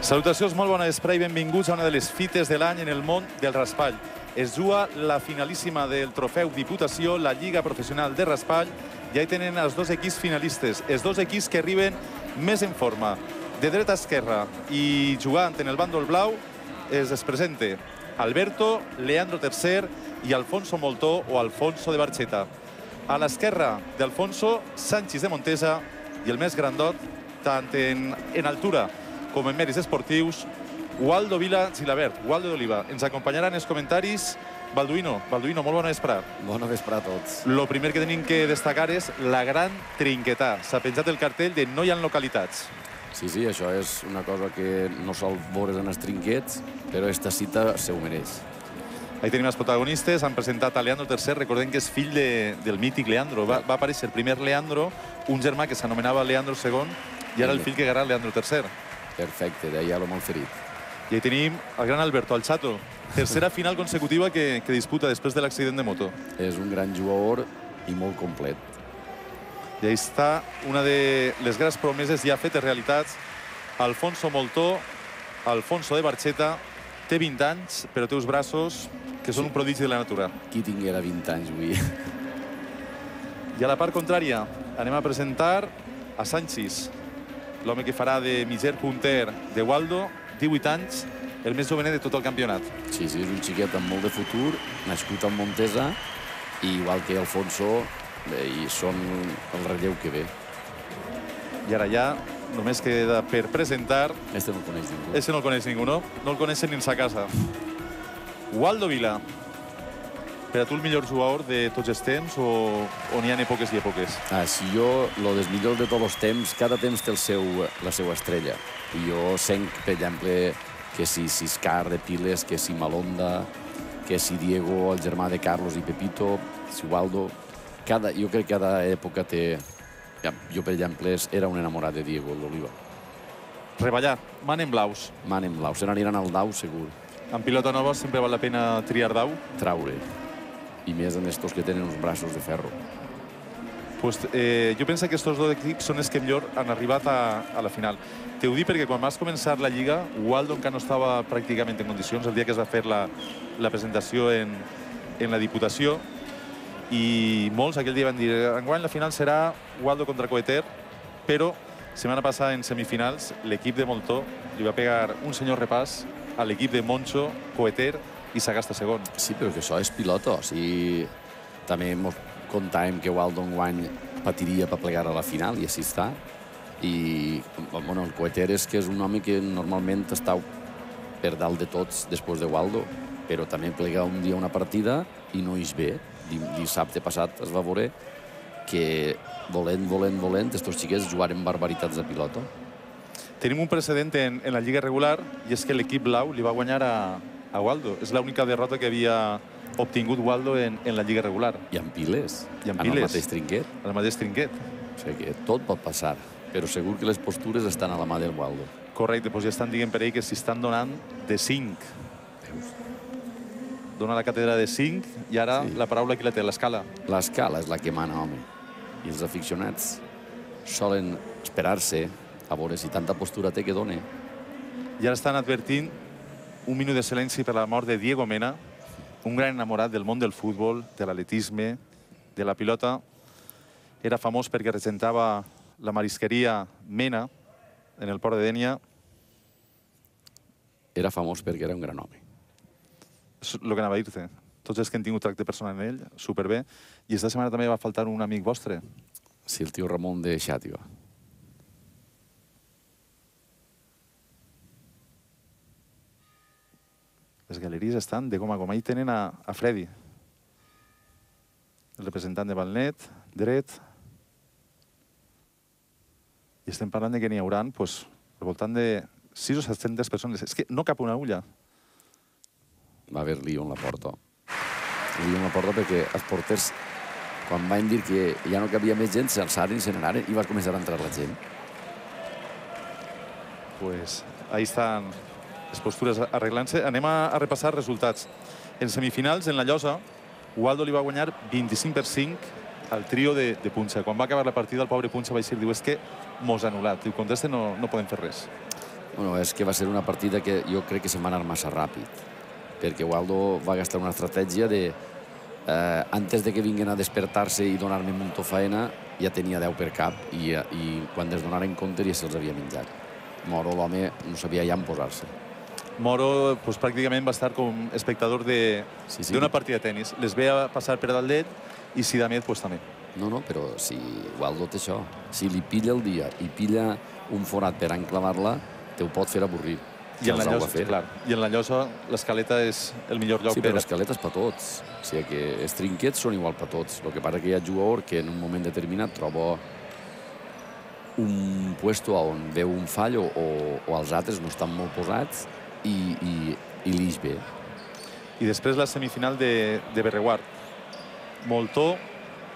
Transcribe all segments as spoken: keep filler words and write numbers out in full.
Salutacions, molt bona vespre i benvinguts a una de les fites de l'any en el món del raspall. Es juga la finalíssima del trofeu Diputació, la Lliga Professional de Raspall. Ja hi tenen els dos equips finalistes, els dos equips que arriben més en forma. De dreta a esquerra i jugant en el bàndol blau es presenta Alberto, Leandro Tercer i Alfonso Moltó o Alfonso de Barcheta. A l'esquerra d'Alfonso, Sánchez de Montesa i el més grandot, tant en, en altura com en mèrits esportius, Waldo Vila Gilabert, Waldo d'Oliva. Ens acompanyaran els comentaris Balduino. Balduino, molt bona vesprada. Bona vesprada a tots. Lo primer que tenim que destacar és la gran trinquetà. S'ha penjat el cartell de no hi ha localitats. Sí, sí, això és una cosa que no sol veure's en els trinquets, però esta cita se ho mereix. Ahí tenim els protagonistes. Han presentat a Leandro Tercer. Recordem que és fill de, del mític Leandro. Va, va aparèixer el primer Leandro, un germà que s'anomenava Leandro segon, i ara el fill que agarra Leandro Tercer. Perfecte, d'allà l'ho molt ferit. I ahí tenim el gran Alberto, el Chato. Tercera final consecutiva que, que disputa després de l'accident de moto. És un gran jugador i molt complet. I ahí està una de les grans promeses ja fetes realitats. Alfonso Moltó, Alfonso de Barcheta, té vint anys, però té uns braços que són un prodigi de la natura. Qui tinguera vint anys, avui? I a la part contrària anem a presentar a Sánchez, l'home que farà de mitger punter de Waldo, divuit anys, el més jovenet de tot el campionat. Sí, sí, és un xiquet amb molt de futur, nascut a Montesa, i igual que Alfonso, bé, i són el relleu que ve. I ara ja només queda per presentar... Este no el coneix ningú. Este no el coneix ningú, no? No el coneixen ni en sa casa. Waldo Vila. Per a tu el millor jugador de tots els temps o, o n'hi ha èpoques i èpoques? Ah, si jo, lo dels millors de tots els temps, cada temps té el seu, la seva estrella. I jo senc, per exemple, que si Siscar de Piles, que si Malonda, que si Diego, el germà de Carlos i Pepito, si Waldo... Cada, jo crec que cada època té... Ja, jo, per exemple, era un enamorat de Diego, l'Oliva. Reballar, man en blaus. Man en blau, se n'aniran al dau, segur. En pilota nova sempre val la pena triar dau. Traure. I més en estos que tenen uns braços de ferro. Pues, eh, jo penso que aquests dos equips són els que millor han arribat a, a la final. Te ho dic perquè quan vas començar la Lliga, Waldo encara no estava pràcticament en condicions el dia que es va fer la, la presentació en, en la Diputació, i molts aquell dia van dir enguany la final serà Waldo contra Coeter, però setmana passada en semifinals l'equip de Moltó li va pegar un senyor repàs a l'equip de Moncho, Coeter i Sagasta segon. Sí, però que això és pilota. O sigui, també comptàvem que Waldo enguany patiria per plegar a la final i així està. I bueno, el Coeter és que és un home que normalment està per dalt de tots després de Waldo, però també plega un dia una partida i no ix bé. Dissabte passat es va veure que volent, volent, volent, estos xiquets jugaren barbaritats de pilota. Tenim un precedent en, en la Lliga regular i és que l'equip blau li va guanyar a, a Waldo. És l'única derrota que havia obtingut Waldo en, en la Lliga regular. I amb piles. I amb piles. En el piles. mateix trinquet. En el mateix trinquet. O sigui que tot pot passar, però segur que les postures estan a la mà del Waldo. Correcte, doncs ja estan dient per ell que s'hi estan donant de cinc. Veus? Dona la càtedra de cinc i ara sí. La paraula qui la té, l'escala. L'escala és la que mana, home. I els aficionats solen esperar-se a veure si tanta postura té que done. I ara estan advertint un minut de silenci per la mort de Diego Mena, un gran enamorat del món del futbol, de l'atletisme, de la pilota. Era famós perquè regentava la marisqueria Mena en el port de Dénia. Era famós perquè era un gran home. És el que anava a dir-te. Tots els que han tingut tracte personal en ell, superbé. I esta setmana també va faltar un amic vostre. Sí, el tio Ramon de Xàtiva. Les galeries estan de goma a goma. Ahí tenen a, a Freddy, el representant de Valnet, dret. I estem parlant de que n'hi haurà pues, al voltant de sis o set-centes persones. És que no cap una ulla. Va haver lío en la porta. Lío en la porta perquè els porters, quan van dir que ja no cabia més gent, s'alçaren i se n'anaren i va començar a entrar la gent. Pues ahí estan les postures arreglant-se. Anem a, a repassar resultats. En semifinals, en la llosa, Waldo li va guanyar vint-i-cinc per cinc al trio de, de Punxa. Quan va acabar la partida, el pobre Punxa va dir, diu, és que mos ha anul·lat. Diu, contra este no, no podem fer res. Bueno, és que va ser una partida que jo crec que se'n va anar massa ràpid, perquè Waldo va gastar una estratègia de eh, antes de que vinguin a despertar-se i donar-me molta faena, ja tenia deu per cap i, i quan es donaren compte ja se'ls havia menjat. Moro, l'home, no sabia ja en posar-se. Moro pues, pràcticament va estar com espectador d'una sí, sí. partida de tenis. Les veia passar per dalt d'ell i Sidamet pues, també. No, no, però si Waldo té això, si li pilla el dia i pilla un forat per enclavar-la, te ho pot fer avorrir. I en la llosa, clar. I en la llosa l'escaleta és el millor lloc. Sí, però l'escaleta és per tots. O sigui que els trinquets són igual per tots. El que passa que hi ha jugador que en un moment determinat troba un puesto on veu un fall o, o els altres no estan molt posats i, i, i l'ix bé. I després la semifinal de, de Berreguard. Moltó,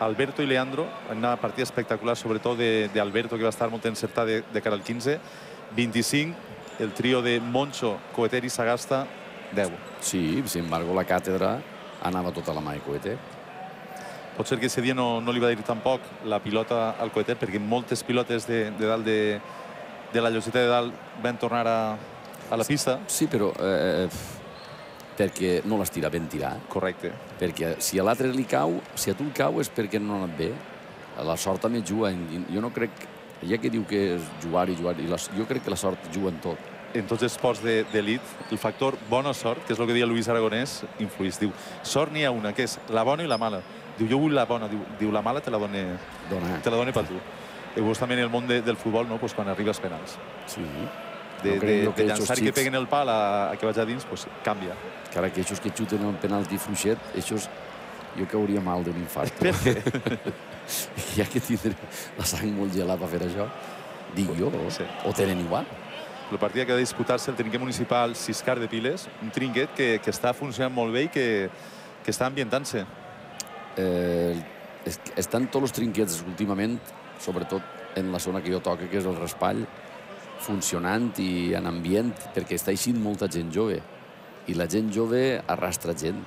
Alberto i Leandro, una partida espectacular, sobretot d'Alberto, que va estar molt encertat de, de cara al quinze. vint-i-cinc, el trio de Moncho, Coeter i Sagasta, deu. Sí, sin embargo, la càtedra anava tota la mà de Coeter. Pot ser que aquest dia no, no li va dir tampoc la pilota al Coeter, perquè moltes pilotes de, de dalt de, de la lloseta de dalt van tornar a, a la pista. Sí, però eh, perquè no les tira ben tirar. Correcte. Perquè si a l'altre li cau, si a tu el cau és perquè no ha anat bé. La sort també juga. Jo no crec... Ja que diu que és jugar i jugar, i la, jo crec que la sort juga en tot. En tots els esports d'elit, el factor bona sort, que és el que deia Luis Aragonès, influís. Diu, sort n'hi ha una, que és la bona i la mala. Diu, jo vull la bona. Diu, diu la mala te la done, te la done per tu. I vos també en el món de, del futbol, no? Pues quan arriba als penals. Sí. De, de, de llançar i que peguen el pal a, a que vaig a dins, pues canvia. Cara, que aquests que xuten el penalti fluixet, aquests jo cauria mal d'un infart. Per què? Hi ha que tindre la sang molt gelada per fer això. Dic jo, sí. O tenen igual. La partida que ha de disputar-se el trinquet municipal Siscar de Piles, un trinquet que, que està funcionant molt bé i que, que està ambientant-se. Eh, es, estan tots els trinquets últimament, sobretot en la zona que jo toco, que és el Raspall, funcionant i en ambient, perquè està eixint molta gent jove. I la gent jove arrastra gent.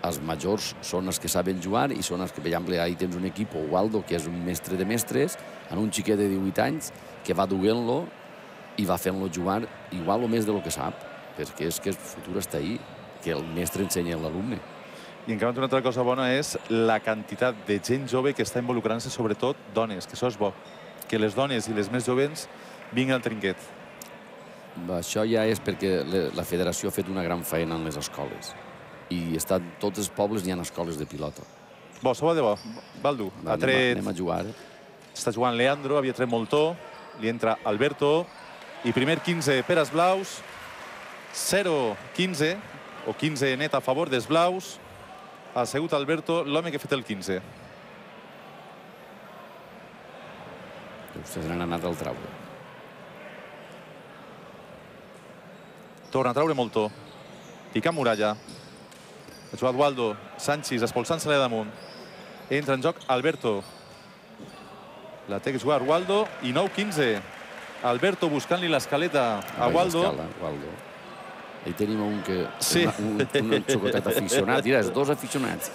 Els majors són els que saben jugar i són els que, per exemple, ahí tens un equip, o Waldo, que és un mestre de mestres, en un xiquet de divuit anys, que va duent-lo i va fent-lo jugar igual o més del que sap, perquè és que el futur està ahí, que el mestre ensenya a l'alumne. I en canvi, una altra cosa bona és la quantitat de gent jove que està involucrant-se, sobretot dones, que això és bo. Que les dones i les més jovens vinguin al trinquet. Això ja és perquè la federació ha fet una gran feina en les escoles. I estan tots els pobles n'hi ha escoles de pilota. Bo, se va de bo. Baldu, ha tret... Anem a jugar. Està jugant Leandro, havia tret Moltó, li entra Alberto, i primer quinze per als blaus, zero quinze, o quinze net a favor dels blaus. Ha sigut Alberto l'home que ha fet el quinze. Se n'han anat al traure. Torna a traure Moltó. Pica muralla. Ha jugat Waldo, Sánchez, expulsant-se-la damunt. Entra en joc Alberto. La té que jugar Waldo i nou quinze. Alberto buscant-li l'escaleta a Waldo. Waldo. Ahí tenim un que... Sí. Un, un, un xocotet aficionat. Mira, els dos aficionats.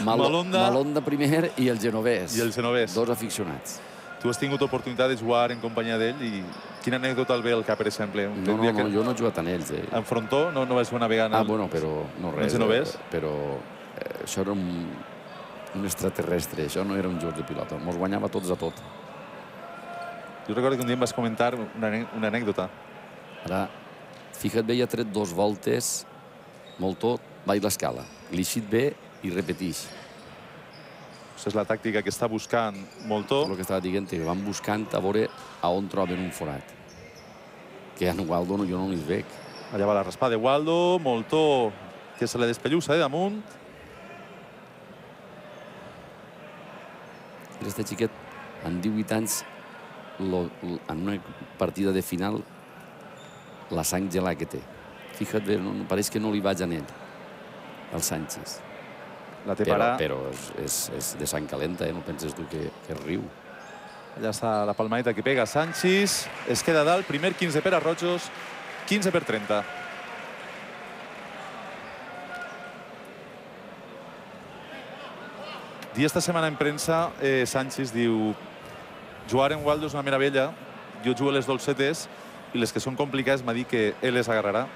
Mal, Malonda. Malonda primer i el genovès. I el genovès. Dos aficionats. Tu has tingut oportunitat de jugar en companyia d'ell i quina anècdota el ve al cap, per exemple? No, no, no, jo no he jugat amb ells. Eh. En frontó no, no vas jugar navegant? Ah, bueno, però no res. No ves? Però eh, això era un, un extraterrestre, això no era un joc de pilota. Mos guanyava tots a tot. Jo recordo que un dia em vas comentar una, una anècdota. Ara, fica't bé, ja ha tret dos voltes, Moltó, baix l'escala. L'eixit bé i repetix. Això és la tàctica que està buscant Moltó. És el que estava dient, que van buscant a veure a on troben un forat. Que en Waldo no, jo no li veig. Allà va la raspada de Waldo, Moltó, que se la despellussa de damunt. Aquest xiquet, en divuit anys, lo, lo, en una partida de final, la sang gelada que té. Fica't bé, no, pareix que no li vaig a ell, el Sánchez. La té però, para... però és, és, és de sang calenta, eh? No penses tu que, que riu. Allà està la palmadeta que pega Sánchez. Es queda dalt, primer quinze per a Rojos, quinze per trenta. Dia esta setmana en premsa, eh, Sánchez diu: jugar en Waldo és una meravella, jo jugo a les dolcetes, i les que són complicades m'ha dit que ell les agarrarà.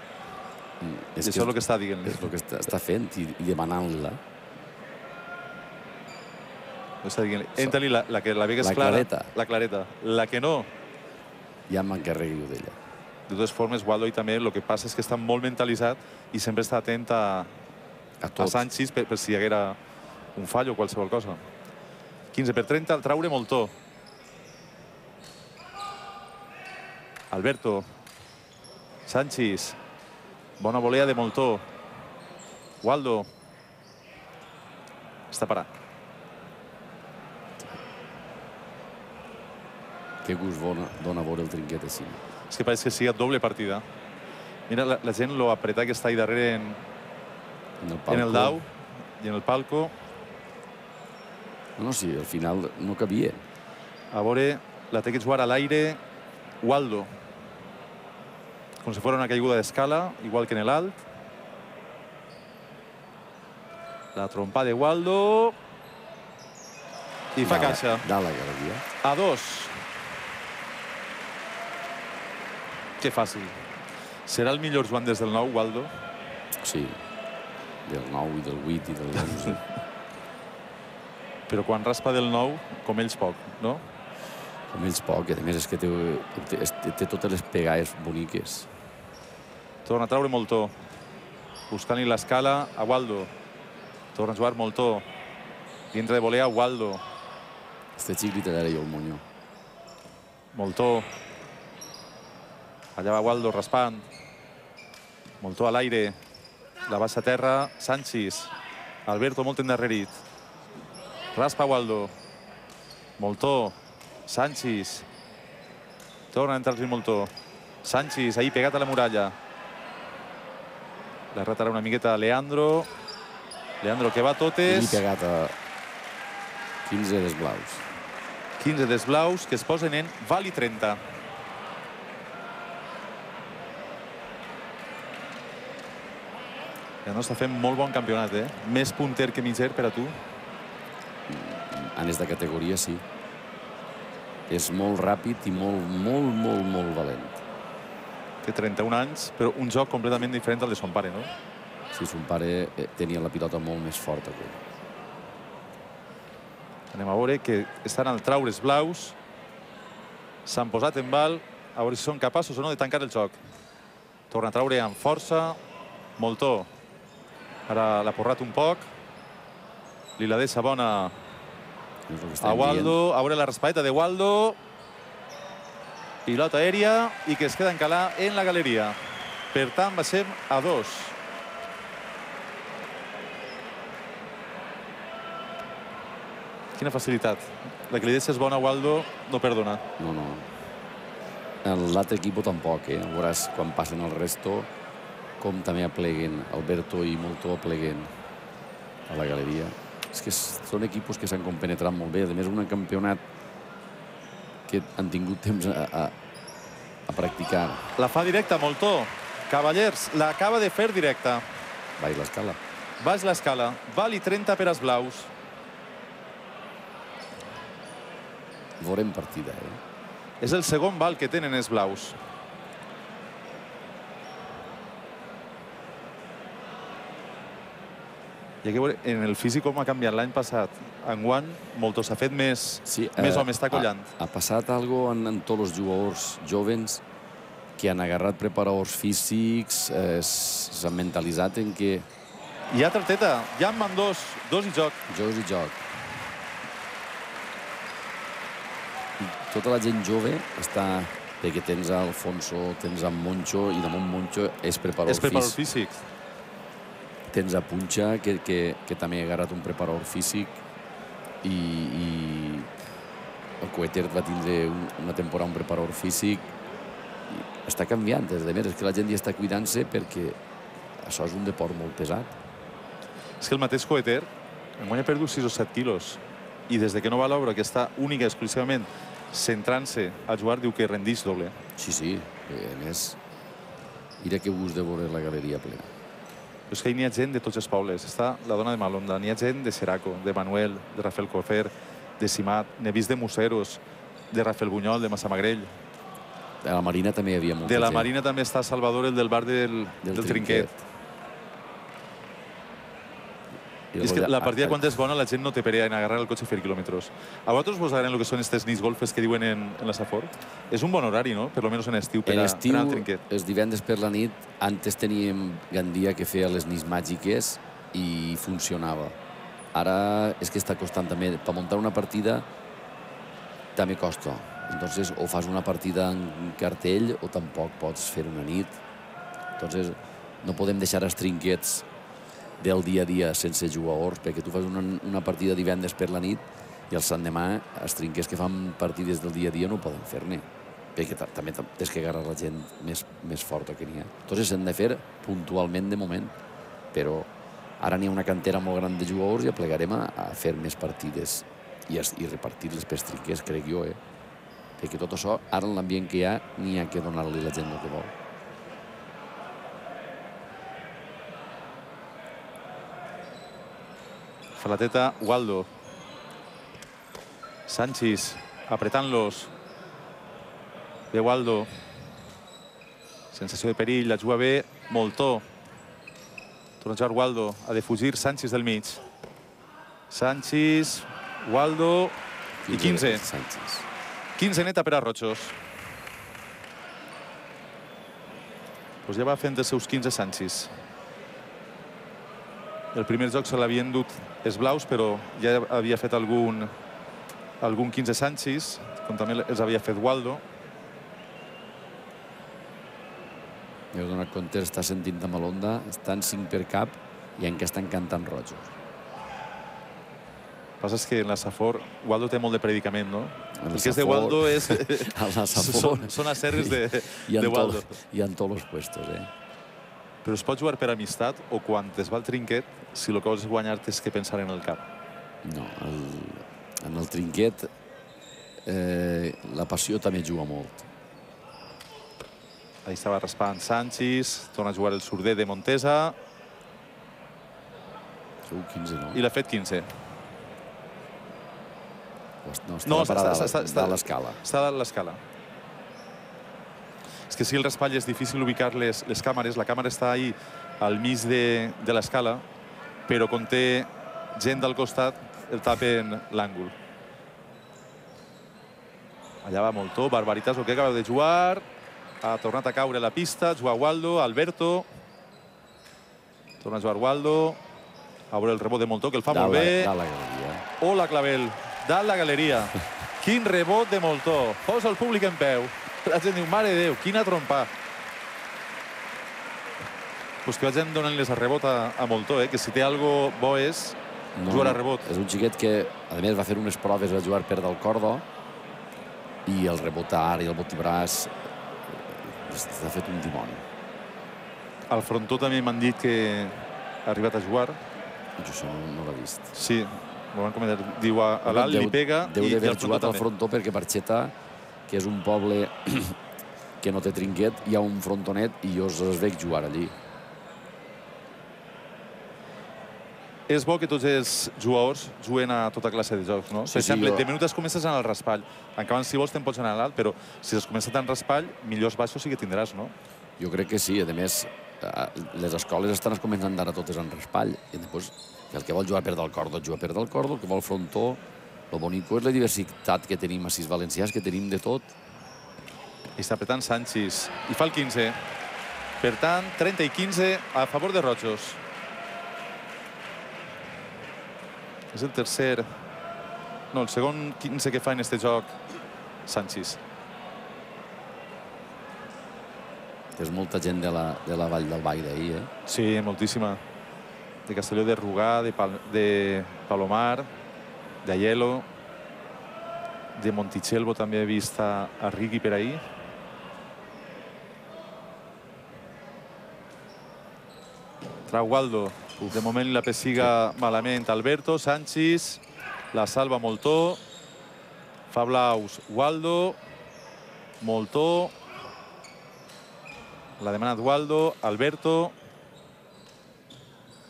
I això és el que està dient-li. És el que està fent i demanant-la. Està dient-li. Entra-li la que la vegues clara. La clareta. La que no... Ja m'encarregui d'ella. De totes formes, Waldo també el que passa és que està molt mentalitzat i sempre està atent a Sanchis per si hi haguera un fall o qualsevol cosa. quinze per trenta, el traure Moltó. Alberto. Sanchis. Bona volea de Moltó. Waldo. Està parat. Que gust dona veure el trinquet així. És que pareix que sigui doble partida. Mira la gent lo apretar que està ahí darrere en el dau i en el palco. No, sí, al final no cabia. A veure, la té que jugar a l'aire Waldo. Com si fos una caiguda d'escala, igual que en l'alt. La trompa de Waldo. I fa caixa. Dalt la galeria. A dos. Que fàcil. Serà el millor Joan des del nou, Waldo? Sí. Del nou i del vuit i del onze. Però quan raspa del nou, com ells poc, no? Com ells poc. A més, és que té totes les pegades boniques. Torna a traure Moltó. Buscant-hi l'escala a Waldo. Torna a jugar Moltó. I entra de volea Waldo. Este xic li tallaré jo el monyo. Moltó. Allà va Waldo raspant. Moltó a l'aire. La baixa a terra. Sanchis. Alberto molt endarrerit. Raspa Waldo. Moltó. Sanchis. Torna a entrar-li Moltó. Sanchis, ahí pegat a la muralla. La retarà una miqueta a Leandro. Leandro que va a totes. I pegat a quinze desblaus. quinze desblaus que es posen en Vali trenta. Ja no està fent molt bon campionat, eh? Més punter que mitger per a tu. En esta categoria, sí. És molt ràpid i molt, molt, molt, molt valent. Té trenta-un anys, però un joc completament diferent al de son pare, no? Sí, son pare tenia la pilota molt més forta que ell. Anem a veure que estan al traure's blaus. S'han posat en val. A veure si són capaços o no de tancar el joc. Torna a traure amb força. Moltó. Ara l'ha porrat un poc. Li la deixa bona a Waldo. A veure la raspadeta de Waldo. Pilota aèria i que es queda encalar en la galeria. Per tant, baixem a dos. Quina facilitat. La que li deixes bona a Waldo no perdona. No, no. L'altre equip tampoc, eh? Veuràs quan passen el resto com també apleguen. Alberto i Moltó apleguen a la galeria. És que són equips que s'han compenetrat molt bé. A més, un campionat que han tingut temps a practicar. La fa directa, Moltó. Cavallers, l'acaba de fer directa. Baix l'escala. Baix l'escala. Vali trenta per als blaus. Veurem partida, eh? És el segon val que tenen els blaus. Hi ha que veure en el físic com ha canviat l'any passat. Enguany, Moltó s'ha fet més home, està collant. Ha passat alguna cosa en tots els jugadors jovens que han agarrat preparadors físics, s'han mentalitzat en que... Hi ha tarteta, ja en van dos, dos i joc. Jocs i joc. Tota la gent jove està... Perquè tens Alfonso, tens a Moncho, i damunt Moncho és preparador físic. És preparador físic. Tens a Punxa, que també ha agarrat un preparador físic, i el Coeter va tindre una temporada un preparador físic. Està canviant, és de més, és que la gent ja està cuidant-se perquè això és un deport molt pesat. És que el mateix Coeter enguany ha perdut sis o set quilos i des que no va a l'obra, que està única i exclusivament centrant-se a jugar, diu que rendix doble. Sí, sí. A més, mira que gust de veure la galeria plena. És que hi ha gent de tots els pobles. Està la dona de Malonda, n'hi ha gent de Xeraco, de Manuel, de Rafael Cofer, de Simat, n'he vist de Museros, de Rafael Bunyol, de Massamagrell. A la Marina també hi havia molta gent. De la Marina també està Salvador, el del bar del, del, del Trinquet. I és que la partida, quan és bona, la gent no té per a agarrar el cotxe i fer quilòmetres. A vosaltres vos agraden el que són aquestes nits golfes que diuen en, en la Safor? És un bon horari, no? Per almenys en estiu, per a, estiu, anar al Trinquet. Els divendres per la nit, antes teníem Gandia que feia les nits màgiques i funcionava. Ara és que està costant també. Per muntar una partida també costa. Entonces, o fas una partida en cartell o tampoc pots fer una nit. Entonces, no podem deixar els trinquets del dia a dia sense jugadors, perquè tu fas una, una partida divendres per la nit i el sant demà els trinquets que fan partides del dia a dia no poden fer-ne, perquè també tens que agarrar la gent més, més forta que n'hi ha. Entonces s'han de fer puntualment de moment, però ara n'hi ha una cantera molt gran de jugadors i aplegarem a, a fer més partides i, i repartir-les pels trinquets, crec jo, eh? Perquè tot això, ara en l'ambient que hi ha, n'hi ha que donar-li a la gent el que vol. Falateta, Waldo. Sanchis, apretant-los. Ve Waldo. Sensació de perill, la juga bé. Moltó. Torna a jugar Waldo. Ha de fugir Sanchis del mig. Sanchis, Waldo i quinze. quinze neta per a Rojos. Pues ja va fent els seus quinze Sanchis. El primer joc se l'havien dut els blaus, però ja havia fet algun, algun quinze Sanchis, com també els havia fet Waldo. Heu donat compte, està sentint amb l'onda, estan cinc per cap i encara estan cantant Rojos. El que passa és que en la Safor Waldo té molt de predicament, no? El que és de Waldo és... Són les serres de Waldo. I en tots els puestos, eh? Però es pot jugar per amistat o quan es va al trinquet, si el que vols guanyar tens que pensar en el cap? No, en el trinquet la passió també juga molt. Ahí estava raspant Sanchis, torna a jugar el surder de Montesa. Segur quinze, no? I l'ha fet quinze. No, està parada a l'escala. Està a l'escala. És que si el raspall és difícil ubicar les, les càmeres, la càmera està ahí al mig de, de l'escala, però quan té gent del costat el tapen l'àngul. Allà va Moltó, Barbaritas, el que acaba de jugar. Ha tornat a caure a la pista, juga Waldo, Alberto. Torna a jugar Waldo. A veure el rebot de Moltó, que el fa molt bé. Dalt la galeria. Hola, Clavel. Dalt la galeria. Quin rebot de Moltó. Posa el públic en peu. La gent diu, mare de Déu, quina trompa. Pues que vagin donant-les a rebot a Moltó, que si té algo bo és jugar a rebot. És un xiquet que, a més, va fer unes proves, va jugar per del cordo, i el rebotar i el botibràs s'ha fet un dimoni. Al frontó també m'han dit que ha arribat a jugar. Jo això no l'he vist. Sí, m'ho van comentar. Diu, a l'alt li pega i al frontó també. Deu d'haver jugat al frontó perquè Barxeta, que és un poble que no té trinquet, hi ha un frontonet i jo els veig jugar allí. És bo que tots els jugadors juguen a tota classe de jocs, no? Per exemple, de minut es comences en el raspall. Encara si vols te'n pots anar a l'alt, però si has començat en raspall, millors baixos sí que tindràs, no? Jo crec que sí. A més, les escoles estan començant ara totes en raspall. I després, el que vol jugar per del cordo, juga per del cordo, el que vol frontó. Lo bonico és la diversitat que tenim a sis valencians, que tenim de tot. I està apretant Sanchis. I fa el quinze. Per tant, trenta i quinze a favor de Rojos. És el tercer... No, el segon quinze que fa en este joc Sanchis. És molta gent de la Vall del Ball d'ahir, eh? Sí, moltíssima. De Castelló de Rugà, de Palomar, d'Aielo, de Montichelvo també he vist a Rigui per ahir. Trau Waldo. De moment la pessiga malament Alberto, Sanchis, la salva Moltó, fa blaus Waldo, Moltó, l'ha demanat Waldo, Alberto,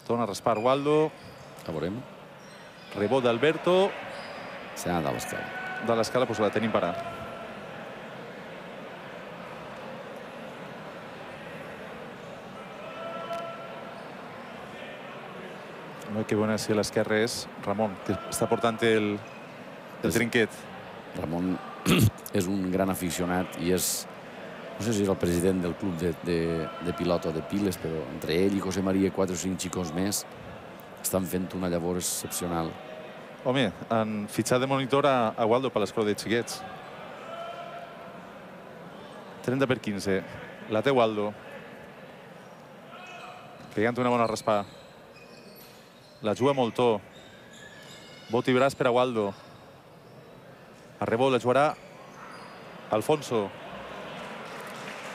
torna a raspar Waldo. A veurem. Rebot d'Alberto. S'ha anat a l'escala. De l'escala, doncs la tenim parat. No, que bona si a l'esquerra és Ramon, que està portant el, el trinquet. Ramon és un gran aficionat i és, no sé si és el president del club de, de, de pilota de Piles, però entre ell i José María i quatre o cinc xicons més estan fent una llavor excepcional. Home, han fitxat de monitor a, a Waldo per l'escola de xiquets. trenta per quinze. La té Waldo. Pegant una bona raspà. La juga Moltó. Bot i braç per a Waldo. A rebot la jugarà Alfonso.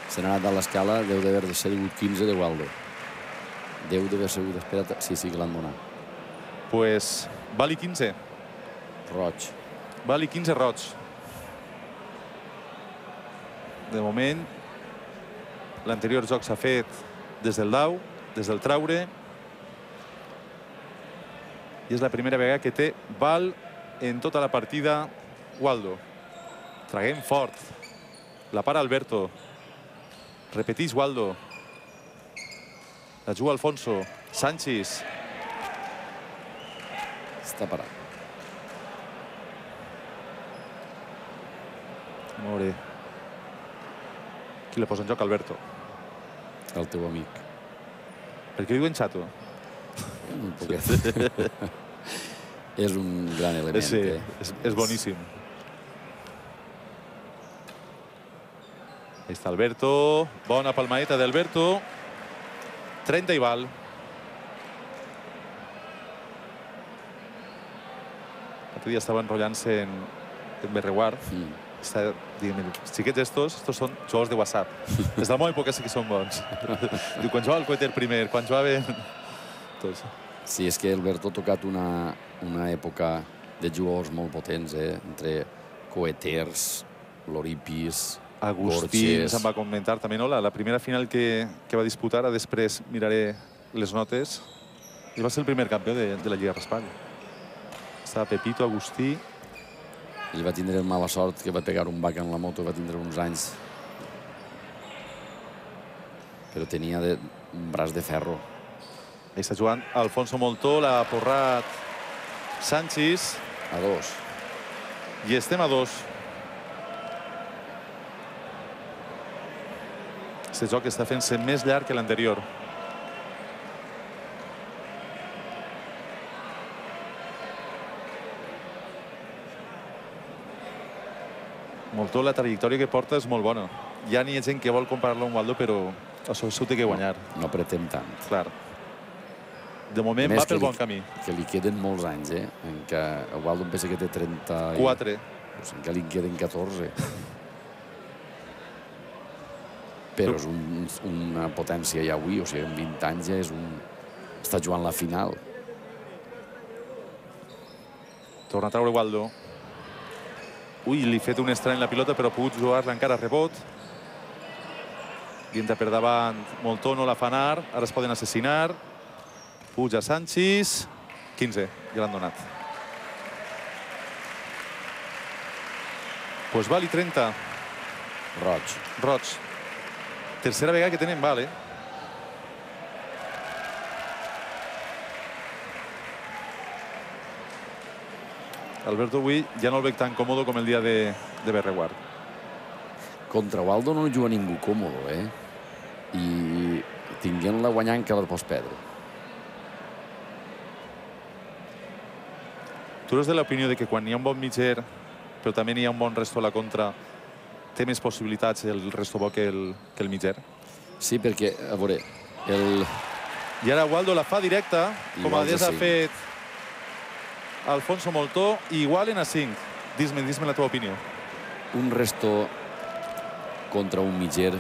Se n'ha anat a l'escala, deu d'haver de ser quinze de Waldo. Deu d'haver sigut, espera't, sí, sí que l'han donat. Pues, vali quinze. Roig. Vali quinze roig. De moment, l'anterior joc s'ha fet des del dau, des del traure. I és la primera vegada que té val en tota la partida Waldo. Traguem fort. La para Alberto. Repeteix Waldo. La juga Alfonso. Sánchez. Està parat. A veure. Qui la posa en joc? Alberto. El teu amic. Per què diuen xato? Un poquet. És un gran element. Sí, eh? és, és boníssim. Ahí està Alberto. Bona palmadeta d'Alberto. trenta i val. L'altre dia estava enrotllant-se en, en Berreguard. Mm. Està dient, els xiquets estos, estos són jugadors de WhatsApp. Des de la meva època sí que són bons. Diu, quan jugava el Coeter primer, quan jugaven... Tots. Sí, és que Alberto ha tocat una, una època de jugadors molt potents, eh? Entre Coeters, Loripis, Agustí, Borges... em va comentar també, no? La, la primera final que, que va disputar, després miraré les notes, i va ser el primer campió de, de la Lliga Raspall. Estava Pepito, Agustí... Ell va tindre mala sort que va pegar un bac en la moto, va tindre uns anys. Però tenia de, un braç de ferro. Ahí està jugant Alfonso Moltó, l'ha porrat Sánchez. A dos. I estem a dos. Aquest joc està fent-se més llarg que l'anterior. Moltó, la trajectòria que porta és molt bona. Ja n'hi ha gent que vol comparar-lo amb Waldo, però això s'ho té que guanyar. No, no pretén tant. Clar. De moment va pel bon camí. Que li queden molts anys, eh? En què el Waldo em pensa que té trenta-quatre. Pues en què li queden catorze. Però és un, una potència ja avui, o sigui, en vint anys ja és un... Està jugant la final. Torna a treure Waldo. Ui, li ha fet un estrany la pilota, però ha pogut jugar-la encara a rebot. Guinta per davant, Moltó no la fa anar. Ara es poden assassinar. Puja Sánchez. quinze, ja l'han donat. Pues vali trenta. Roig. Roig. Tercera vegada que tenen val, eh? Alberto avui ja no el veig tan còmode com el dia de, de Berreguard. Contra Waldo no juga ningú còmode, eh? I tinguent-la guanyant que la pots perdre. Tu eres de l'opinió de que quan hi ha un bon mitger, però també hi ha un bon resto a la contra, té més possibilitats el resto bo que el, que el mitger? Sí, perquè, a veure, el... I ara Waldo la fa directa, com a des ha fet Alfonso Moltó, i igualen a cinc. Dis-me, dis-me la teva opinió. Un resto contra un mitger,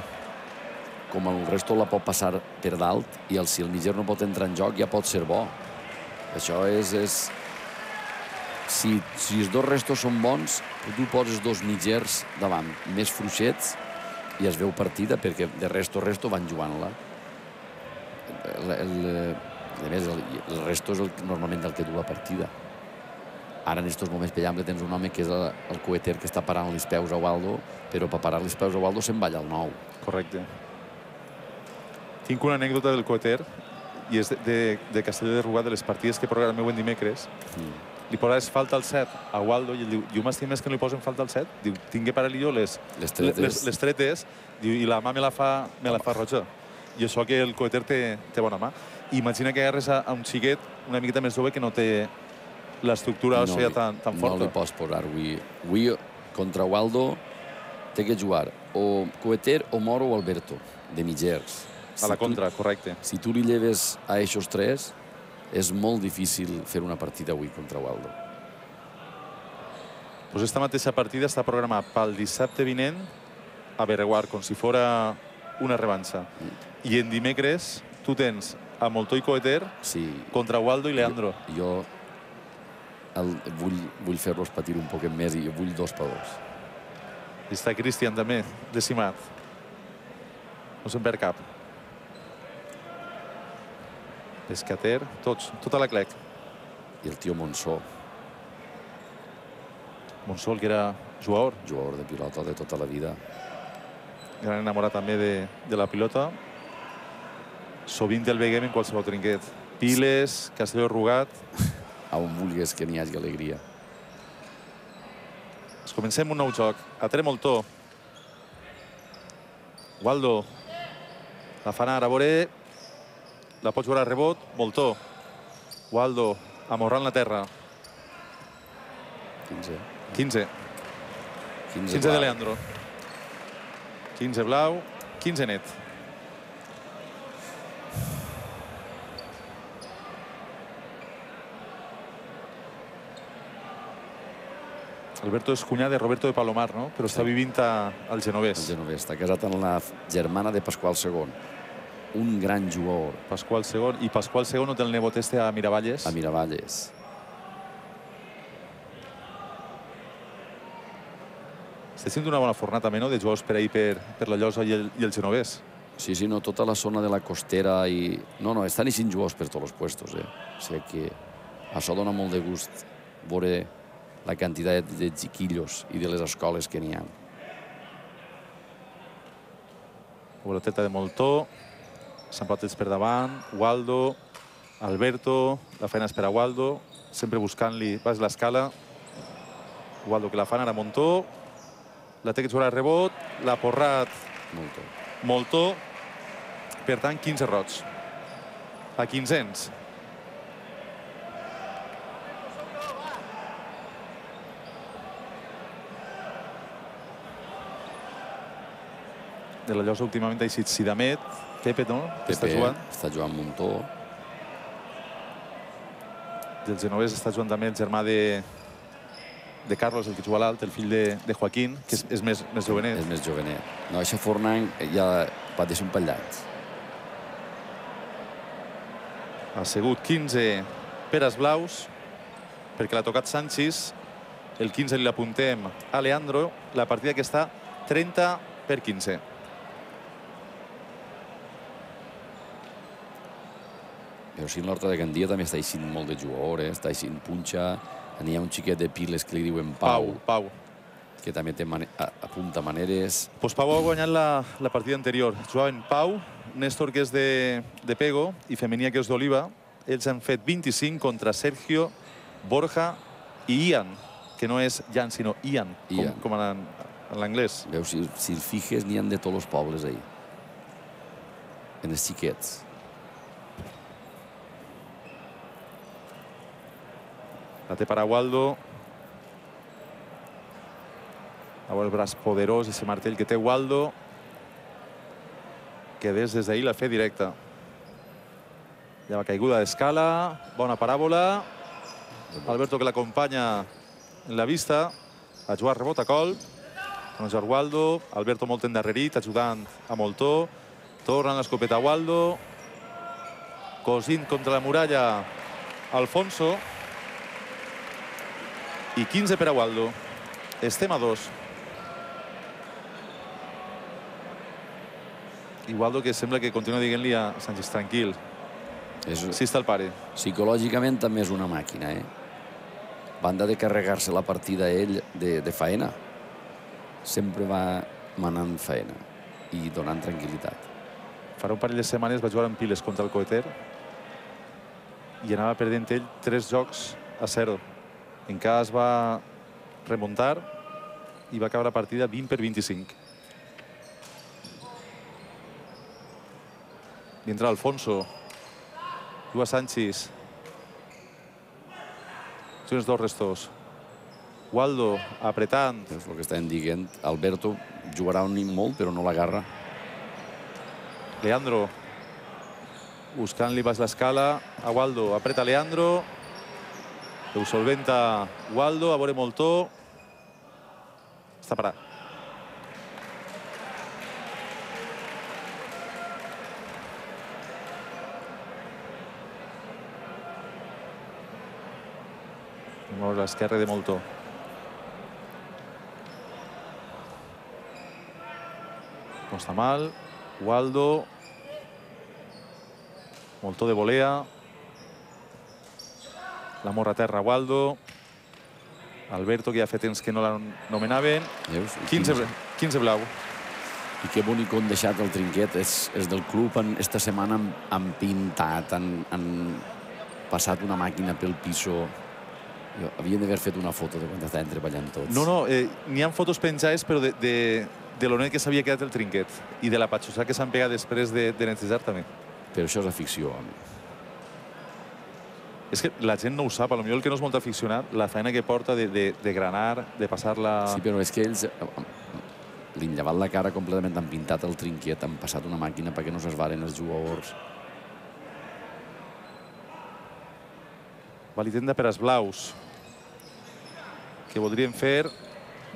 com el resto la pot passar per dalt, i el, si el mitger no pot entrar en joc, ja pot ser bo. Això és... és... Si, si els dos restos són bons, tu poses dos mitgers davant, més fluixets, i es veu partida, perquè de resto a resto van jugant-la. El, el, a més, el, el resto és el, normalment el que du la partida. Ara, en aquests moments, per exemple, tens un home que és el, el Coeter que està parant els peus a Waldo, però per parar els peus a Waldo se'n balla el nou. Correcte. Tinc una anècdota del Coeter, i és de, de, de Castelló de Rugat, de les partides que programeu en dimecres, mm. li poses falta al set a Waldo i ell diu, jo m'estim més que no li posen falta al set. Diu, tinc per jo les, les tretes, les, les tretes diu, i la mà me la fa, me la fa roja. I això que el Coeter té, té bona mà. Imagina que agarres a, a un xiquet una miqueta més jove que no té l'estructura no òssea tan, tan forta. No li pots posar avui. Avui, contra Waldo, té que jugar o Coeter, o Moro o Alberto, de mitgers. A la contra, correcte. Si tu li lleves a aquests tres, és molt difícil fer una partida avui contra Waldo. Pues esta mateixa partida està programada pel dissabte vinent a Bereguar, com si fora una revanxa. Mm. I en dimecres tu tens a Moltó i Coeter sí. contra Waldo i Leandro. Jo, jo el, vull, vull fer-los patir un poquet més i jo vull dos per dos. I està Cristian també, decimat. No se'n perd cap. Pescater, tots, tota la clec. I el tio Monsó. Monsó, que era jugador. Jugador de pilota de tota la vida. Gran enamorat també de, de la pilota. Sovint el veiem en qualsevol trinquet. Piles, Castelló Rugat. A on vulguis que n'hi hagi alegria. Pues comencem un nou joc. A Tremoltó. Waldo. La fan ara a veure. La pots veure a rebot. Moltó. Waldo. Amorrant la terra. quinze. quinze. quinze de Leandro. quinze blau. quinze net. Alberto és cunyà de Roberto de Palomar, no? Però està vivint al Genovès. Al Genovès. Està casat amb la germana de Pasqual segon. Un gran jugador. Pasqual segon. I Pasqual segon no té el nebot este a Miravalles? A Miravalles. Està sent una bona fornada també, no?, de jugadors per ahir per, per la Llosa i el, i el Genovès. Sí, sí, no, tota la zona de la costera i... No, no, estan eixint jugadors per tots els puestos, eh? O sigui que això dona molt de gust veure la quantitat de xiquillos i de les escoles que n'hi ha. Boloteta de Moltó. Sant Patets per davant. Waldo. Alberto. La feina és per a Waldo. Sempre buscant-li... Vas l'escala. Waldo que la fan ara a Montó. La té que jugar a rebot. L'ha porrat Moltó. Moltó. Per tant, quinze rots. A quinzens. De la Llosa últimament ha eixit Sidamet. Pepe, no? Pepe està jugant. Està jugant Montó. Del Genovès està jugant també el germà de, de Carlos, el que juga a l'alt, el fill de, de Joaquín, que és, és més, més jovenet. És més jovenet. No, això Fornan ja va deixar un pallat. Ha sigut quinze peres blaus, perquè l'ha tocat Sánchez. El quinze li l'apuntem a Leandro. La partida que està trenta per quinze. Però sí, l'Horta de Gandia també està eixint molt de jugador, eh? Està eixint Punxa. N'hi ha un xiquet de Piles que li diuen Pau. Pau, Pau. Que també té mane apunta maneres. Pues Pau ha guanyat la, la partida anterior. Jugaven Pau, Néstor, que és de, de Pego, i Femenia, que és d'Oliva. Ells han fet vint-i-cinc contra Sergio, Borja i Ian, que no és Jan, sinó Ian, Ian. com, com en, en l'anglès. Veus, si, si el fijes, n'hi ha de tots els pobles ahí. En els xiquets. La té per a Waldo. A veure el braç poderós, ese martell que té Waldo. Que des des d'ahir la fe directa. Ja va caiguda d'escala. Bona paràbola. Alberto que l'acompanya en la vista. A jugar rebot a colp. Con el Waldo. Alberto molt endarrerit, ajudant a Moltó. Torna l'escopeta a Waldo. Cosint contra la muralla Alfonso. I quinze per a Waldo. Estem a dos. I Waldo que sembla que continua dient-li a Sánchez tranquil. És... Sí està el pare. Psicològicament també és una màquina, eh? Banda de carregar-se la partida ell de, de faena. Sempre va manant faena i donant tranquil·litat. Farà un parell de setmanes va jugar en Piles contra el Coeter i anava perdent ell tres jocs a zero. Encara es va remuntar i va acabar la partida vint per vint-i-cinc. I entra Alfonso. Juga Sanchis. Són els dos restos. Waldo apretant. És el que estàvem dient. Alberto jugarà un molt, però no l'agarra. Leandro. Buscant-li baix l'escala a Waldo. Apreta Leandro. Ho solventa Waldo. A veure Moltó. Està parat. Molt a l'esquerra de Moltó. No està mal. Waldo. Moltó de volea. La morra a terra, Waldo. Alberto, que ja fa temps que no l'anomenaven. quinze blau. I que bonic on deixat el trinquet. És, és del club. Esta setmana han, han pintat, han, han passat una màquina pel piso. Havien d'haver fet una foto de quan estaven treballant tots. No, no, eh, n'hi ha fotos penjades, però de, de, de l'on que s'havia quedat el trinquet i de la patxossa que s'han pegat després de, de netejar també. Però això és afició, home. És que la gent no ho sap, potser el que no és molt aficionat, la feina que porta de, de, de granar, de passar-la... Sí, però és que ells li han llevat la cara completament, han pintat el trinquet, han passat una màquina perquè no s'esvaren els jugadors. Valitenda per als blaus, que voldrien fer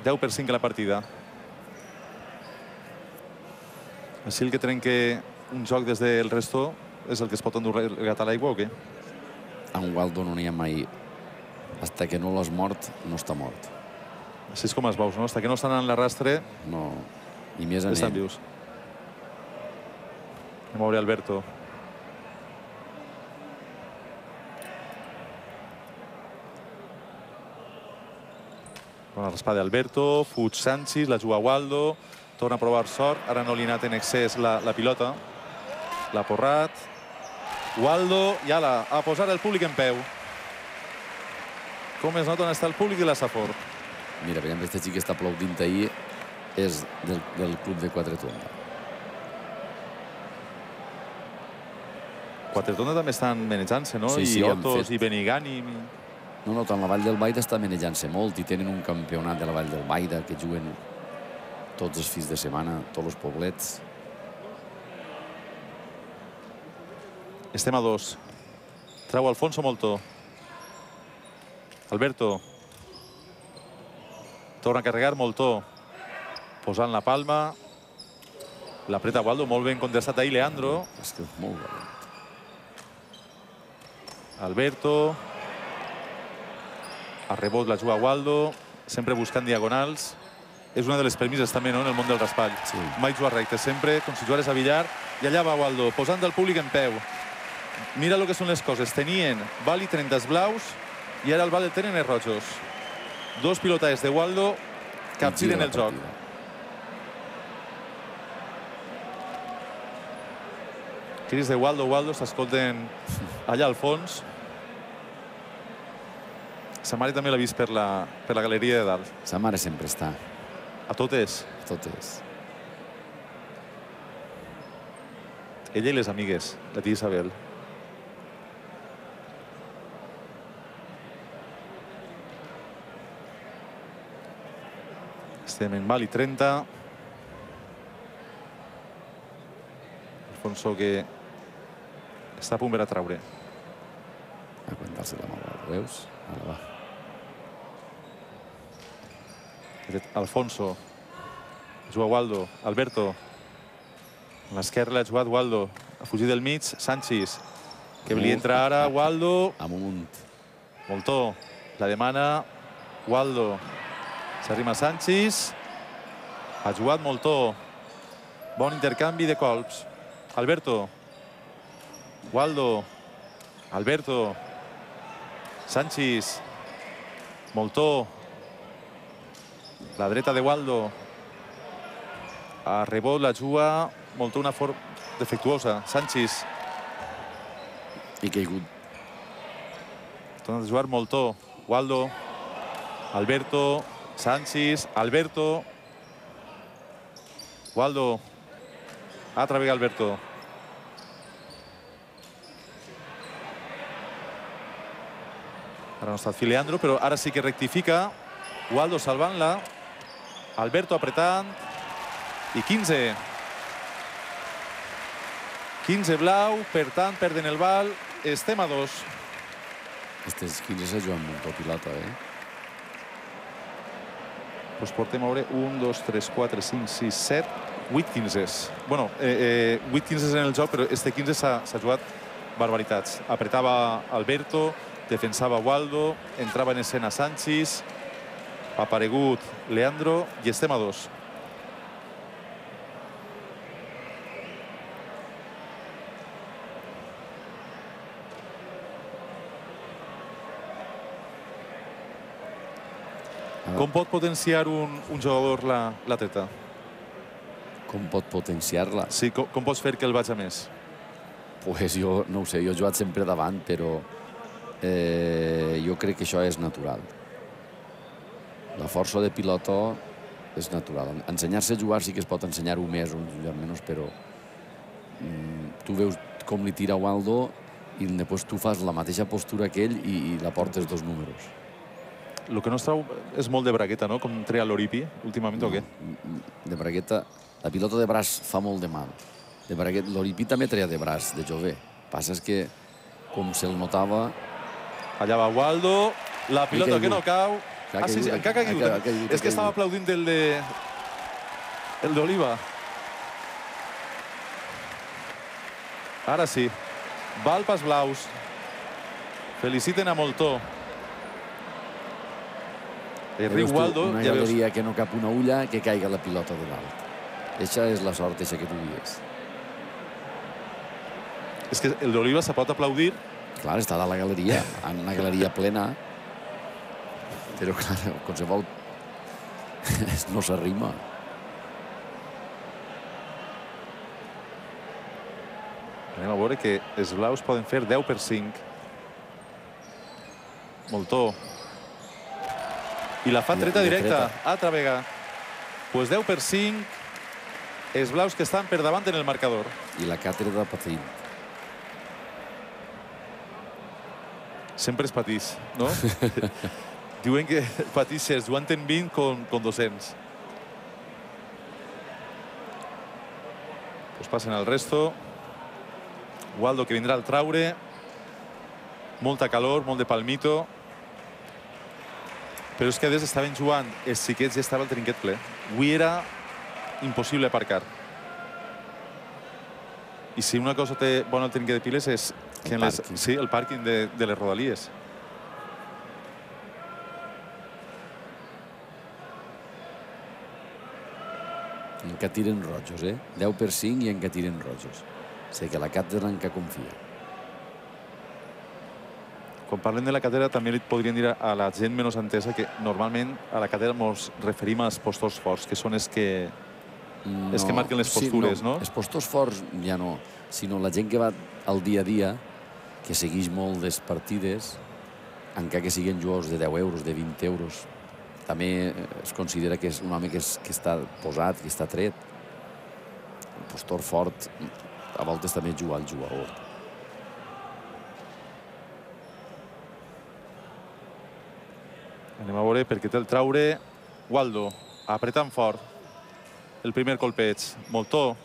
deu per cinc a la partida. Així el que trenca un joc des del resto és el que es pot endur regat a l'aigua o què? A un Waldo no n'hi ha mai. Hasta que no l'has mort, no està mort. Així és com els baus, no? Hasta que no estan en l'arrastre... No, i més en ell. Estan vius. Anem a veure Alberto. Bona raspada d'Alberto, fuig Sanchis, la juga Waldo, torna a provar sort, ara no li ha anat en excés la, la pilota. L'ha porrat. Waldo, i ala, a posar el públic en peu. Com es nota on està el públic de la Safor. Mira, veiem que aquesta xica està aplaudint ahir, és del, del club de Quatretonda. Quatretonda també estan manejant-se, no? Sí, sí, I han Otos fet... i Benigànim... No, no, tant la Vall del Baida està manejant-se molt i tenen un campionat de la Vall del Baida que juguen tots els fins de setmana, tots els poblets. Estem a dos. Trau Alfonso Moltó. Alberto. Torna a carregar Moltó. Posant la palma. L'apreta Waldo, molt ben contestat ahir Leandro. És que és molt valent. Alberto. A rebot la juga Waldo, sempre buscant diagonals. És una de les premisses també, no?, en el món del raspall. Sí. Mai jugar recte, sempre com si jugares a billar. I allà va Waldo, posant el públic en peu. Mira el que són les coses. Tenien Vali trenta els blaus i ara el Val el tenen els rojos. Dos pilotades de Waldo capgiren el joc. Crits de Waldo, Waldo, s'escolten allà al fons. Sa mare també l'ha vist per la, per la galeria de dalt. Sa mare sempre està. A totes. A totes. Ella i les amigues, la tia Isabel. Estem en Vali trenta. Alfonso que està a punt per a traure. A aguantar-se la mà, veus? Ara va. Alfonso. Juga Waldo. Alberto. A l'esquerra l'ha jugat Waldo. A fugir del mig, Sanchis. Que li entra ara Waldo. Amunt. Moltó. La demana Waldo. S'arrima Sanchis. Ha jugat Moltó. Bon intercanvi de colps. Alberto. Waldo. Alberto. Sanchis. Moltó. La dreta de Waldo. A rebot la juga Moltó, una forma defectuosa. Sanchis. I caigut Torna a jugar Moltó. Waldo. Alberto. Sanchis. Alberto. Waldo. Altra vegada Alberto. Ara no ha estat Filiandro, però ara sí que rectifica. Waldo salvant-la. Alberto apretant. I quinze. quinze blau, per tant, perden el bal. Estem a dos. Aquestes quinze se juguen molt pilota, eh? Doncs portem a veure un, dos, tres, quatre, cinc, sis, set, vuit quinzes. Bueno, eh, vuit quinzes en el joc, però este quinze s'ha jugat barbaritats. Apretava Alberto, defensava Waldo, entrava en escena Sanchis, ha aparegut Leandro i estem a dos. Com pot potenciar un, un jugador la, la treta? Com pot potenciar-la? Sí, com, com pots fer que el vagi a més? Pues jo no ho sé, jo he jugat sempre davant, però eh, jo crec que això és natural. La força de pilotó és natural. Ensenyar-se a jugar sí que es pot ensenyar-ho més o menys, però mm, tu veus com li tira Waldo i després tu fas la mateixa postura que ell i, i la portes dos números. El que no es trau és molt de bragueta, no? Com treia l'Oripi últimament, o què? De bragueta, la pilota de braç fa molt de mal. De bragueta, l'Oripi també treia de braç, de jove. Passa és que, com se'l notava... Allà va Waldo, la pilota que no cau. Ah, sí, sí, encara ha caigut. És que estava aplaudint el de... el d'Oliva. Ara sí. Val pas blaus. Feliciten a Moltó. El riu Waldo... Una galeria que no cap una ulla, que caiga la pilota de dalt. Eixa és la sort, eixa que tu dius. És que el d'Oliva se pot aplaudir. Clar, està a la galeria, en una galeria plena. Però, clar, qualsevol no s'arrima. Anem a veure que els blaus poden fer deu per cinc. Moltó. I la fa treta directa, altra vegada. Pues deu per cinc, els blaus que estan per davant en el marcador. I la càtedra patint. Sempre es patís, no? Diuen que patixes jugant en vint con, con dos-cents. Pues passen al resto. Waldo que vindrà al traure. Molta calor, molt de palmito. Però és que des estaven jugant els xiquets i estava el trinquet ple. Avui era impossible aparcar. I si una cosa té bona el trinquet de piles és que en les, sí, el pàrquing de, de les Rodalies. Encara tiren rojos, eh? deu per cinc i encara tiren rojos. O sigui que la càtedra encara confia. Quan parlem de la càtedra també li podrien dir a la gent menys entesa que normalment a la càtedra ens referim als postors forts, que són els que, no, els que marquen les postures, sí, no? no? Els postors forts ja no, sinó la gent que va al dia a dia, que segueix molt les partides, encara que siguin jugadors de deu euros, de vint euros, també es considera que és un home que, és, que està posat, que està tret. El postor fort a voltes també juga al jugador. Anem a veure perquè té el traure. Waldo, apretant fort. El primer colpeig. Moltó.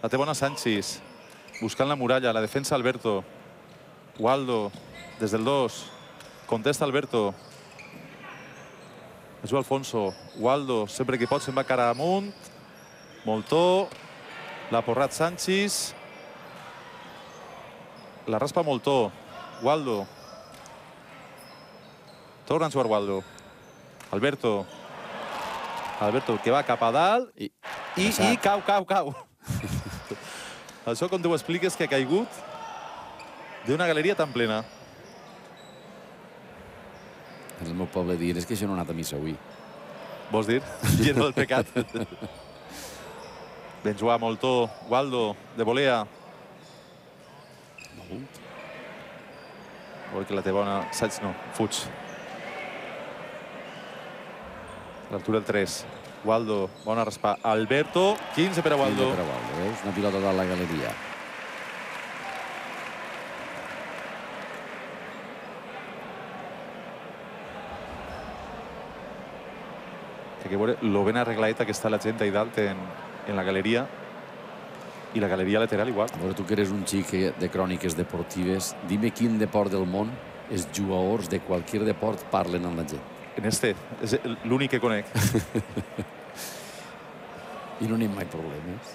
La té bona Sanchis. Buscant la muralla. La defensa Alberto. Waldo. Des del dos. Contesta Alberto. Juga Alfonso. Waldo. Sempre que pot se'n va cara amunt. Moltó. L'ha porrat Sanchis. La raspa Moltó. Waldo. Torna a jugar Waldo. Alberto. Alberto, que va cap a dalt i, i, i cau, cau, cau. Això, com t'ho expliques, que ha caigut d'una galeria tan plena. En el meu poble dir és que això no ha anat a missa avui. Vols dir? Lleno del pecat. Ben jugar, Moltó. Waldo, de volea. A veure que la té bona. Saig no, fuig. A l'altura del tres. Waldo, bona raspar. Alberto, quinze per a Waldo. quinze per a Waldo, veus? Una pilota de la galeria. Té que veure lo ben arregladeta que està la gent allà dalt en, en la galeria. I la galeria lateral igual. A veure, tu que eres un xic de cròniques deportives, dime quin deport del món els jugadors de qualsevol deport parlen amb la gent. En este, és l'únic que conec. I no n'hi ha mai problemes.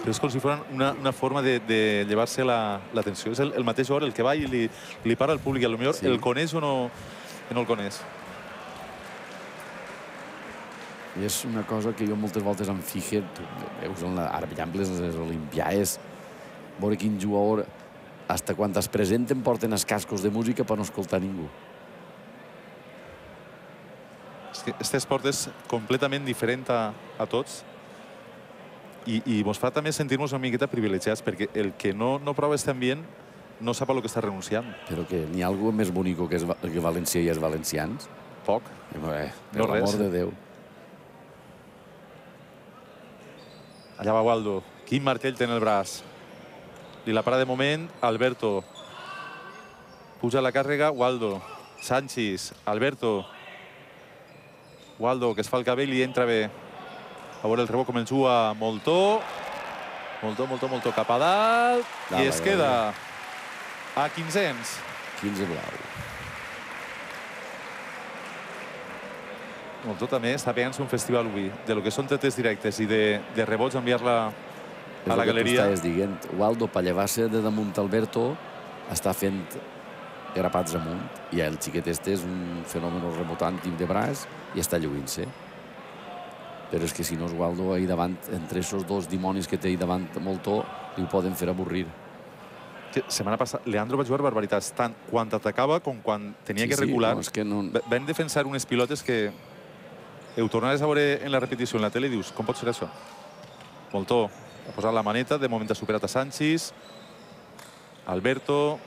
Però és com si fos una, una forma de, de llevar-se la, la tensió. És el, el mateix jugador el que va i li, li para al públic. A lo millor sí. El coneix o no, no el coneix. I és una cosa que jo moltes voltes em fixe, veus, en la, ara, per exemple, les Olimpiades, veure quin jugador, hasta quan es presenten, porten els cascos de música per no escoltar ningú. És que aquest esport és completament diferent a, a tots i, i ens fa també sentir-nos una miqueta privilegiats, perquè el que no, no prova aquest ambient no sap a lo que està renunciant. Però que n'hi ha algú més bonic que, que València i els valencians? Poc. Eh, per no l'amor de Déu. Allà va Waldo. Quin martell té en el braç. Li la para de moment Alberto. Puja la càrrega Waldo. Sanchis. Alberto. Waldo, que es fa el cabell i entra bé. A veure el rebot com el juga Moltó. Moltó, Moltó, Moltó cap a dalt. I es queda a quinzens. quinze blau. Moltó també està pegant-se un festival avui. De lo que són tretes directes i de, de rebots enviar-la a la galeria. És el que tu estaves dient. Waldo, per llevar-se de damunt Alberto, està fent grapats amunt. I el xiquet este és un fenomen rebotant de braç i està lluint-se. Però és que si no és Waldo ahir davant, entre aquests dos dimonis que té ahir davant Moltó, li ho poden fer avorrir. Setmana passada, Leandro va jugar barbaritats, tant quan atacava com quan tenia sí, que regular. Sí, no, és que no... Vam defensar unes pilotes que ho tornaves a veure en la repetició en la tele i dius, com pot ser això? Moltó ha posat la maneta, de moment ha superat a Sanchis. Alberto,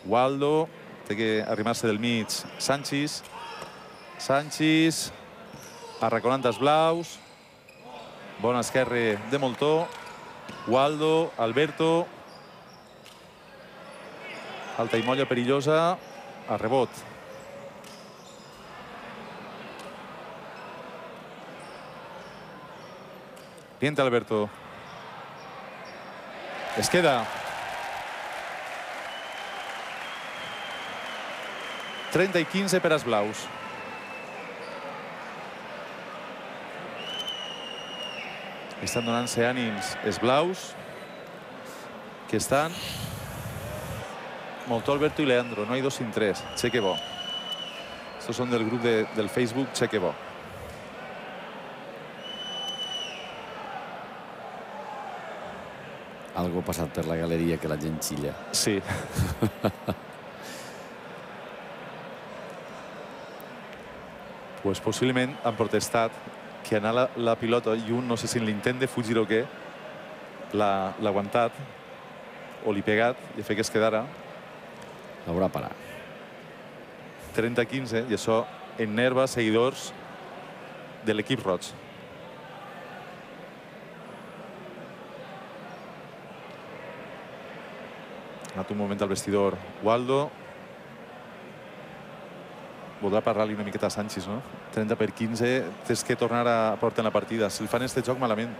Waldo, té que arrimar-se del mig Sanchis. Sanchis, arraconant els blaus. Bon esquerre de Moltó. Waldo, Alberto. Alta i molla perillosa. A rebot. Pienta Alberto. Es queda. trenta i quinze per als blaus. Estan donant-se ànims els blaus, que estan Moltó, Alberto i Leandro. No hi dos sin tres. Cheque bo. Estos són del grup de, del Facebook Cheque bo. Algo ha passat per la galeria que la gent xilla. Sí. Pues possiblement han protestat que anar la, la pilota i un, no sé si en l'intent de fugir o què, l'ha aguantat o li pegat i ha fet que es quedara. Haurà parat. trenta a quinze, i això enerva seguidors de l'equip roig. Ha anat un moment al vestidor Waldo. Voldrà parlar-li una miqueta a Sanchis, no? trenta per quinze, tens que tornar a portar en la partida. Si el fan este joc, malament.